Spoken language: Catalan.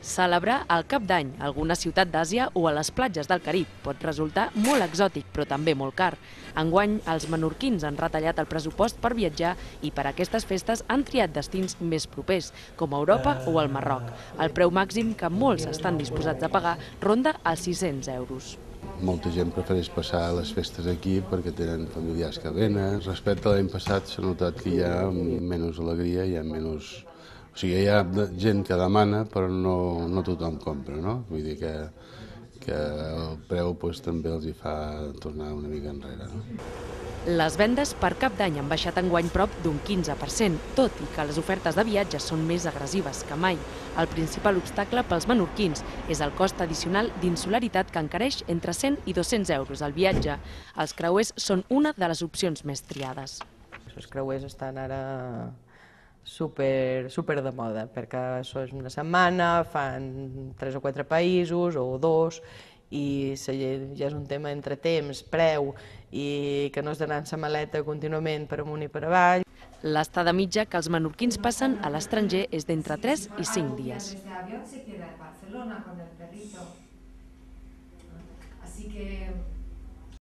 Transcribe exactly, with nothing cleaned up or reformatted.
Celebrar el Cap d'Any a alguna ciutat d'Àsia o a les platges del Carib pot resultar molt exòtic, però també molt car. Enguany, els menorquins han retallat el pressupost per viatjar i per a aquestes festes han triat destins més propers, com Europa o el Marroc. El preu màxim que molts estan disposats a pagar ronda els sis-cents euros. Molta gent prefereix passar les festes aquí perquè tenen familiars que venen. Respecte a l'any passat s'ha notat que hi ha menys alegria, hi ha menys... O sigui, hi ha gent que demana, però no, no tothom compra, no? Vull dir que, que el preu doncs, també els hi fa tornar una mica enrere, no? Les vendes per Cap d'Any han baixat enguany prop d'un quinze per cent, tot i que les ofertes de viatges són més agressives que mai. El principal obstacle pels menorquins és el cost addicional d'insularitat que encareix entre cent i dos-cents euros al viatge. Els creuers són una de les opcions més triades. Els creuers estan ara super, super de moda, perquè això és una setmana, fan tres o quatre països, o dos, i ja és un tema entre temps, preu, i que no has d'anar amb la maleta contínuament per amunt i per avall. L'estada mitja que els menorquins passen a l'estranger és d'entre tres i cinc dies. Así que